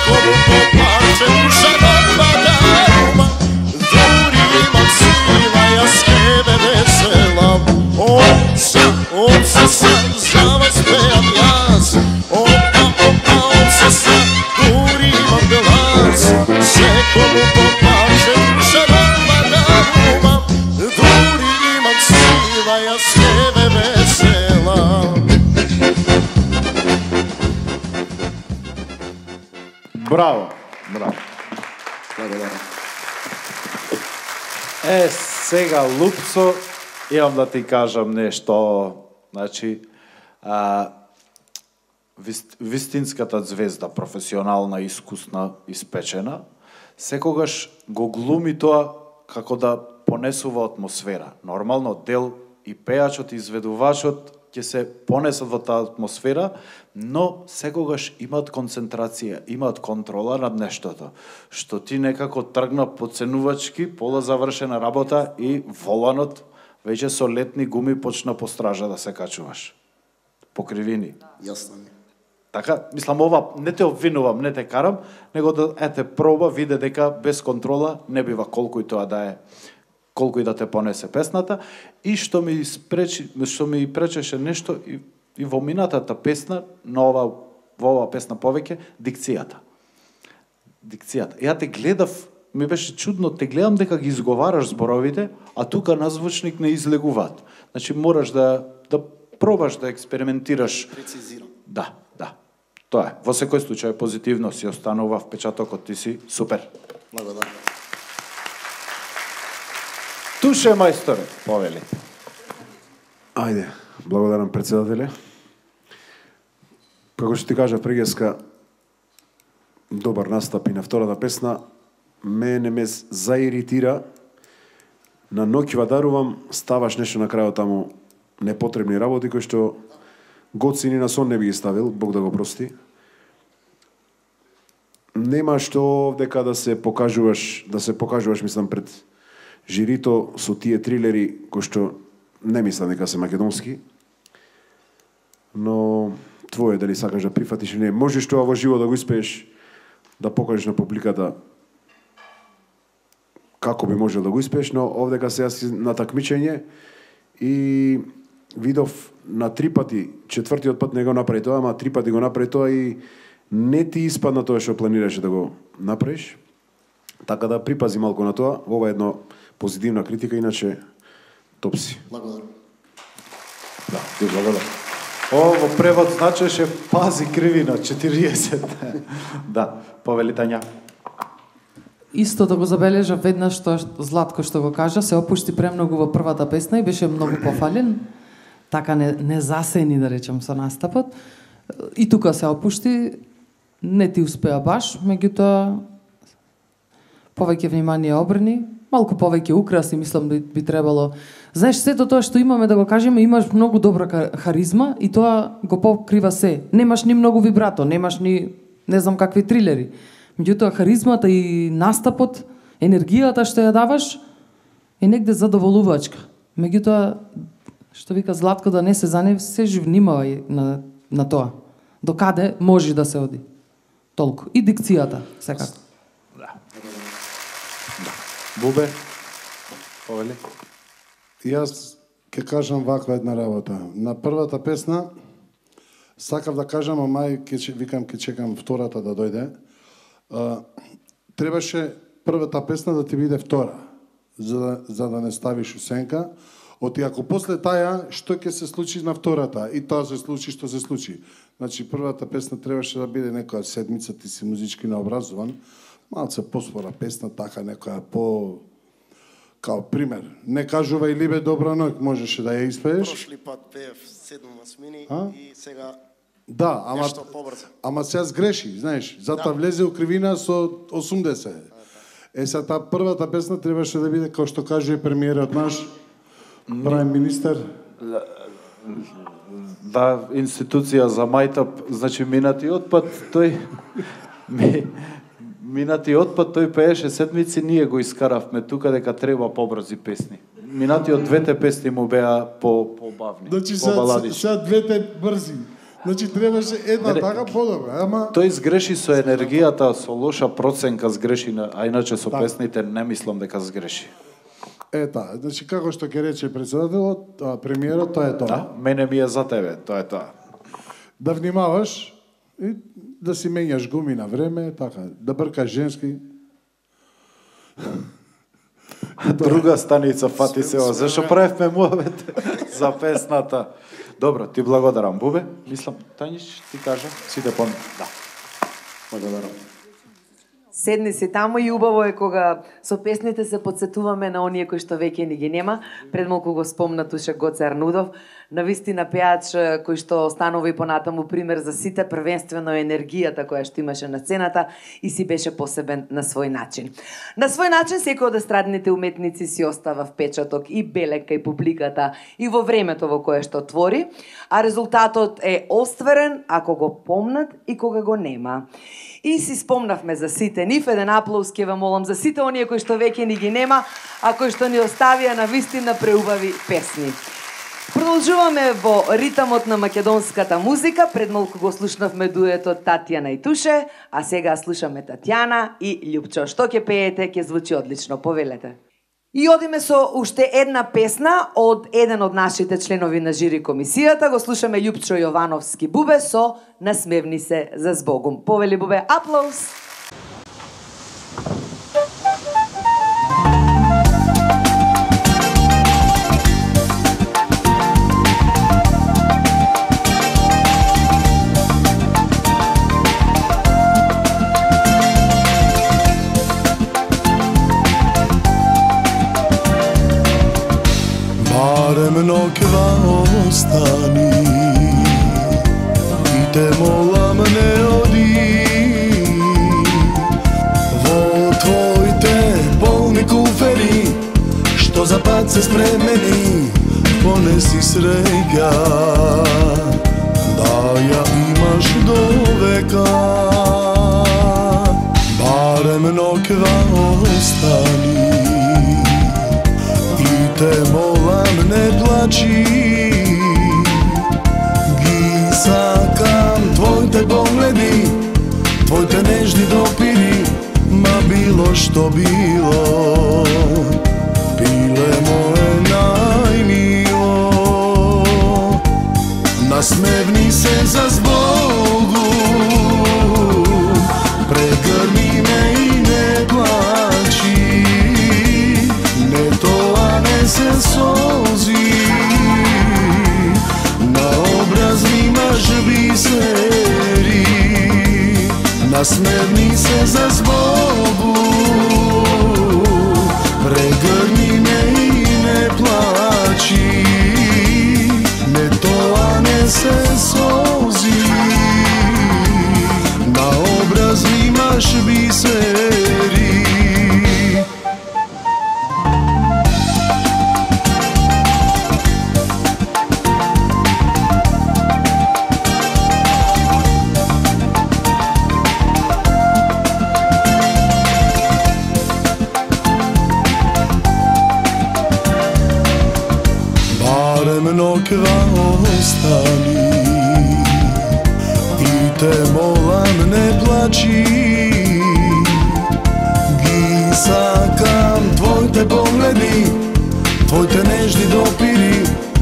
Como popače, duša odpada.
Браво. Браво.
Благодарам.
Е, сега, Лупцо, имам да ти кажам нешто. Значи, а, вист, вистинската звезда, професионална, искусна, испечена, секогаш го глуми тоа како да понесува атмосфера. Нормално, дел и пејачот и изведувачот ќе се понесат во таа атмосфера, но секогаш имаат концентрација, имаат контрола над нештото, што ти некако тргна подценувачки, пола завршена работа и воланот веќе со летни гуми почна по стража да се качуваш. По кривини.
Јасно ми.
Така, мислам, ова не те обвинувам, не те карам, него да ете проба, виде дека без контрола не бива колку и тоа да е, колку и да те понесе песната, и што ми спречи, што ми пречеше нешто и, и во минатата песна, на ова, во ова песна повеќе, дикцијата. Дикцијата. Ја те гледав, ми беше чудно, те гледам дека ги изговараш зборовите, а тука на звучник не излегуваат. Значи мораш да да пробаш да експериментираш.
Прецизирам.
Да, да. Тоа е. Во секој случај позитивно си останува впечатокот, ти си супер.
Благодарам.
Туше мајсторе, повели.
Ајде, благодарам председателе. Како што ти кажа прегеска, добар настап и на втората песна, мене ме заиритира. На ноќва дарувам, ставаш нешто на крајот таму непотребни работи кои што Гоци ни на сон не би ги ставил, Бог да го прости. Нема што дека да се покажуваш, да се покажуваш, мислам, пред жирито со тие трилери кои што не мислам дека се македонски. Но твое дали сакаш да прифатиш или не, можеш тоа во живо да го испееш, да покажеш на публиката како би можел да го испееш, но овдека сега си на такмичење и видов на три пати, четвртиот пат не го направи тоа, ама три пати го направи тоа и не ти испадна тоа што планираше да го направиш. Така да припази малку на тоа. Ова е едно позитивна критика, иначе топ си.
Благодарам.
Да, ти благодарам. О, во превод значеше пази кривина, четириесет. Да, повели Тања.
Исто да го забележа веднаш тоа Златко што го кажа, се опушти премногу во првата песна и беше многу пофален. Така не, не засени, да речем, со настапот. И тука се опушти, не ти успеа баш, меѓутоа повеќе внимание обрни, малку повеќе украси, мислам би, би требало. Знаеш, сето тоа што имаме, да го кажеме, имаш многу добра харизма и тоа го покрива се. Немаш ни многу вибрато, немаш ни не знам какви трилери. Меѓутоа харизмата и настапот, енергијата што ја даваш е негде задоволувачка. Меѓутоа, што вика Златко, да не се занев, се внимавај на, на тоа. До каде може да се оди. Толку. И дикцијата, секако.
Да. Да. Бубе, повели.
Јас ќе кажам ваква една работа. На првата песна сакав да кажам, а мај ќе викам ќе чекам втората да дојде. Uh, требаше првата песна да ти биде втора, за да, за да не ставиш усенка. Оти ако после таја, што ќе се случи на втората? И тоа се случи што се случи. Значи, првата песна требаше да биде некоја седмица, ти си музички необразован, малце поспора песна, така некоја по... Као пример, не кажувај Либе добра ноќ, можеше да ја испееш.
Прошли пат пеев седум осмини
а?
И сега
да, ама,
нешто побрзо.
Ама сега сгреши, знаеш, затоа
да.
Влезе у кривина со осумдесет. Е, сега таа првата песна требаше да биде, како што кажува премиерот наш, праем министер.
Да, институција за мајтап, значи минатиот пат тој ми, минатиот пат тој пееше седмици, ние го искаравме тука дека треба побрзи песни. Минатиот двете песни му беа по побавни,
значи,
побаладични.
Сега двете брзи. Значи требаше една така подобра, ама
тој сгреши со енергијата, со лоша проценка сгреши, а иначе со
так.
Песните не мислам дека сгреши.
Ета, значи како што ќе рече председателот, а, премиерот, тоа е тоа.
Да, мене ми е за тебе, тоа е тоа.
Да внимаваш и да си менјаш гуми на време, така, да бркаш женски.
Друга станица фати се ова, зашо правевме муабет за песната. Добро, ти благодарам, Бубе. Мислам, Тањиш ти кажа, сите помни. Да.
Благодарам.
Седни си таму и убаво е кога со песните се подсетуваме на оние кои што веќе ни ги нема. Пред малку го спомна туше Гоце Арнудов, навистина пеач кој што станува и понатаму пример за сите, првенствено енергијата која што имаше на сцената и си беше посебен на свој начин. На свој начин секој од естрадните уметници си остава впечаток и белек кај публиката и во времето во кое што твори, а резултатот е остварен ако го помнат и кога го нема. И си спомнавме за сите нив, еден аплауз ке ве молам за сите оние кои што веќе ни ги нема, а кои што ни оставија на вистина преубави песни. Продолжуваме во ритамот на македонската музика. Пред малку го слушнавме дуетот Татјана и Туше, а сега слушаме Татјана и Љупчо. Што ќе пеете, ќе звучи одлично, повелете. И одиме со уште една песна од еден од нашите членови на жири комисијата. Го слушаме Љупчо Јовановски Бубе со Насмевни се за збогум. Повели Бубе, аплауз!
Barem nokva ostani i te molam ne odi. Vo tvojte polni kuferi što za pad se spremeni, ponesi sreća da ja imaš do veka. Barem nokva ostani i te molam ne plači. Ги сакам твоите погледи, твоите нежни допири, ма било што било, пиле мое најмило. Насмевни се за збогу, прегрни ме и не плачи. Не тоа не се солзи, на образ имаш бисери. Насмевни се за збогу, прегрни ме и не плачи. Не тоа не се солзи, на образ имаш бисери. Nokva ostani i te molam ne plači. Ги сакам твоите погледи, твоите нежни допири,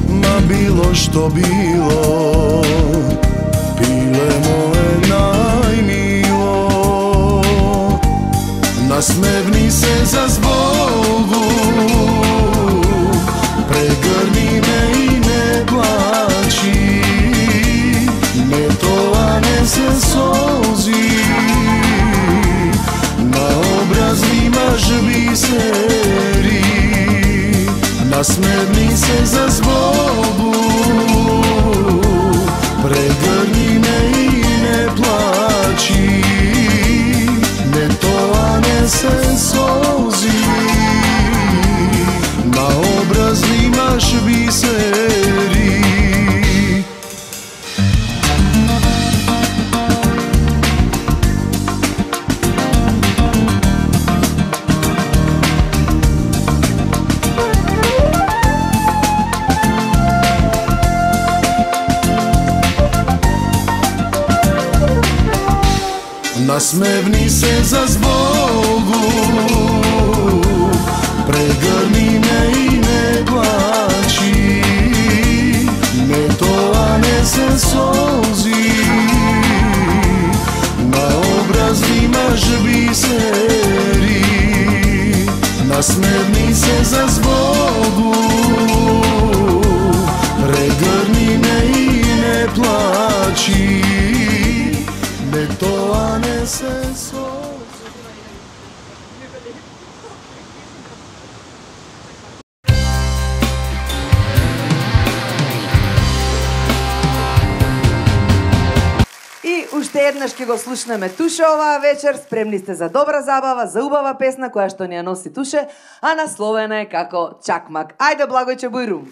ма било што било, пиле мое најмило. Насмевни се за збогу, прегрни ме и не плачи. Не тоа не се солзи, на образ имаш бисери. Насмевни се за збогу, прегрни ме и не плачи. Не тоа не се солзи, на образ имаш бисери. Насмевни се за збогу, прегрни ме и не плачи. Не тоа не се солзи, на образ имаш бисери. Насмевни се за збогу, прегрни ме и не плачи. Не тоа не се солзи.
Уште еднаш ќе го слушнеме Туше оваа вечер. Спремни сте за добра забава, за убава песна која што ни ја носи Туше, а насловена е како Чакмак. Ајде, Благојче Бујрум.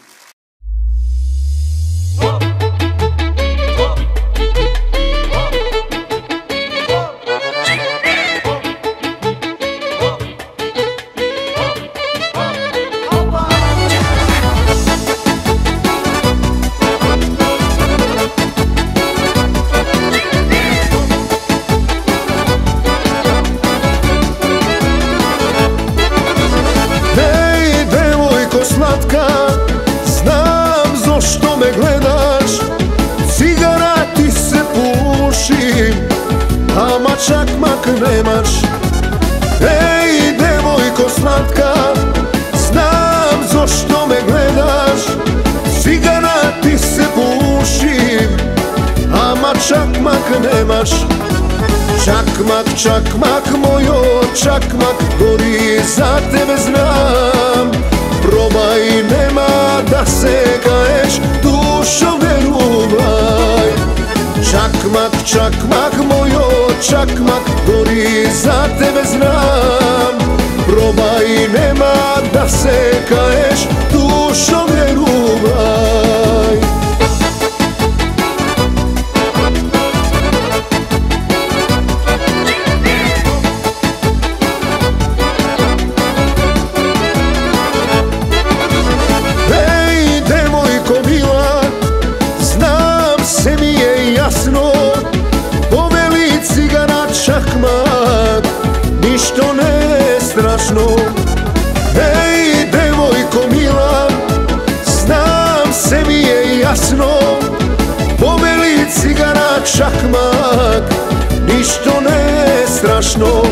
Знам зошто ме гледаш, цигара ти се пуши, ама чакмак немаш. Еј, девојко сладка, знам зошто ме гледаш, цигара ти се пуши, ама чакмак немаш. Чакмак, чакмак, мојот чакмак, дори за тебе знам. Пробај, нема да се каеш, душо верувај. Чакмак, чакмак, мојот чакмак, дори за тебе знам. Пробај, нема да се каеш, душо верувај. Повели цигара чакмак, ништо не е страшно. Еј, девојко мила, знам се ми е јасно. Повели цигара чакмак, ништо не е страшно.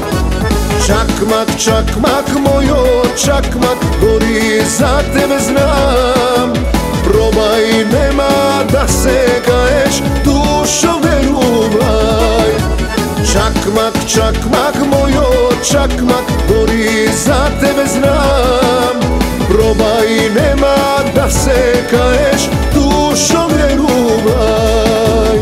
Чакмак, чакмак, мојот чакмак, дори за тебе знам. Пробај, нема да се каеш, душо верувај. Чакмак, чакмак, мојот чакмак, дори за тебе знам. Пробај, нема да се каеш, душо верувај.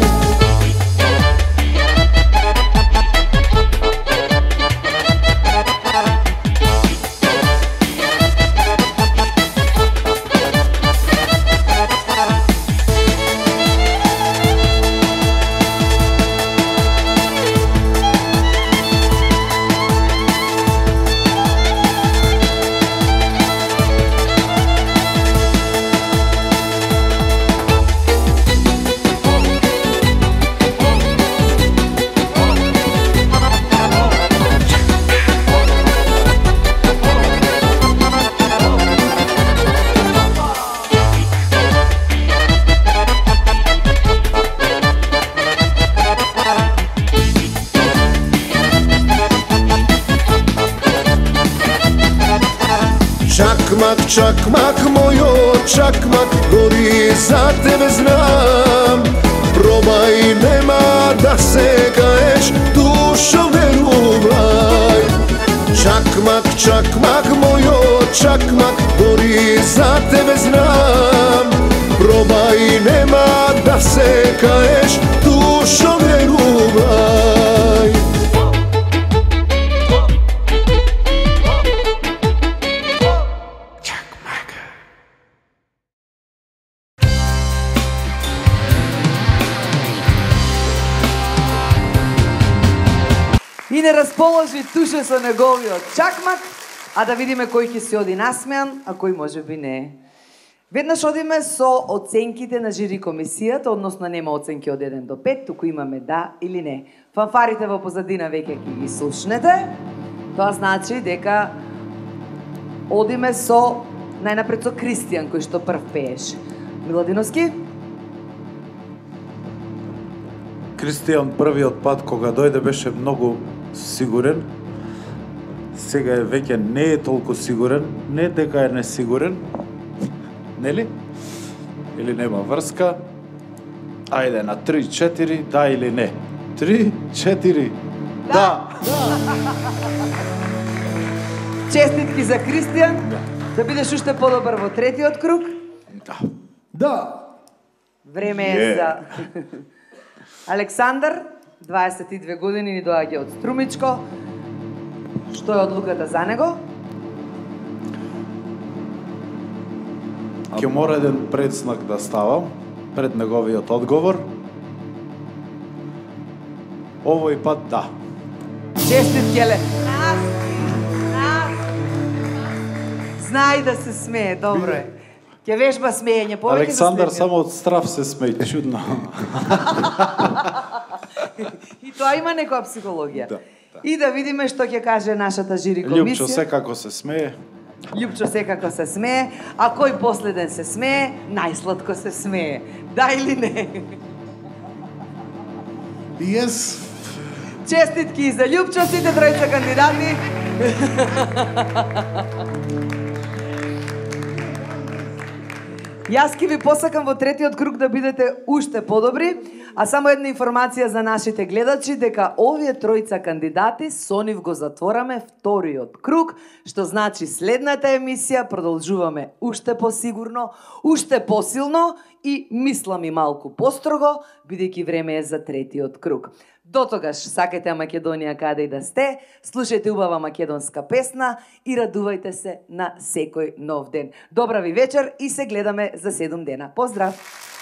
Чакмак, чакмак, мојот чакмак, дори за тебе знам. Пробај, нема да се каеш, душо верувај. Чакмак, чакмак, мојот чакмак, дори за тебе знам. Пробај, нема да се каеш, душо верувај.
И не расположи Туше со неговиот чакмак, а да видиме кој ќе се оди насмеан, а кој може би не. Веднаш одиме со оценките на жири комисијата, односно нема оценки од еден до пет, туку имаме да или не. Фанфарите во позадина веќе ќе ги слушнете. Тоа значи дека одиме со најнапред со Кристијан кој што прв пееше. Миладиновски?
Кристијан првиот пат кога дојде беше многу сигурен. Сега е веќе не е толку сигурен, не дека е несигурен. Нели? Или нема врска? Ајде на три четири, да или не? три четири. Да.
Честитки за Кристијан. Да бидеш уште подобар во третиот круг.
Да.
Да.
Време е за Александар. дваесет и две години, ни доаѓа од Струмичко. Што е одлуката за него?
Ќе мора еден предснак да ставам пред неговиот одговор. Овој пат да.
Честит, Келе. Знај да се смее, добро е. Ќе вежба смеење, повеќе
Александар
за
само од страв се смее, чудно.
И тоа има некоја психологија.
Да, да.
И да видиме што ќе каже нашата жири комисија.
Љупчо секако се смее.
Љупчо секако се смее, а кој последен се смее, најсладко се смее. Да или не?
Yes.
Честитки и за Љупчо, сите тројца кандидати. Јас ќе ви посакам во третиот круг да бидете уште подобри, а само една информација за нашите гледачи, дека овие тројца кандидати со нив го затвораме вториот круг, што значи следната емисија продолжуваме уште посигурно, уште посилно и мислам и малку построго, бидејќи време е за третиот круг. До тогаш, сакајте Македонија каде и да сте, слушајте убава македонска песна и радувајте се на секој нов ден. Добра ви вечер и се гледаме за седум дена. Поздрав!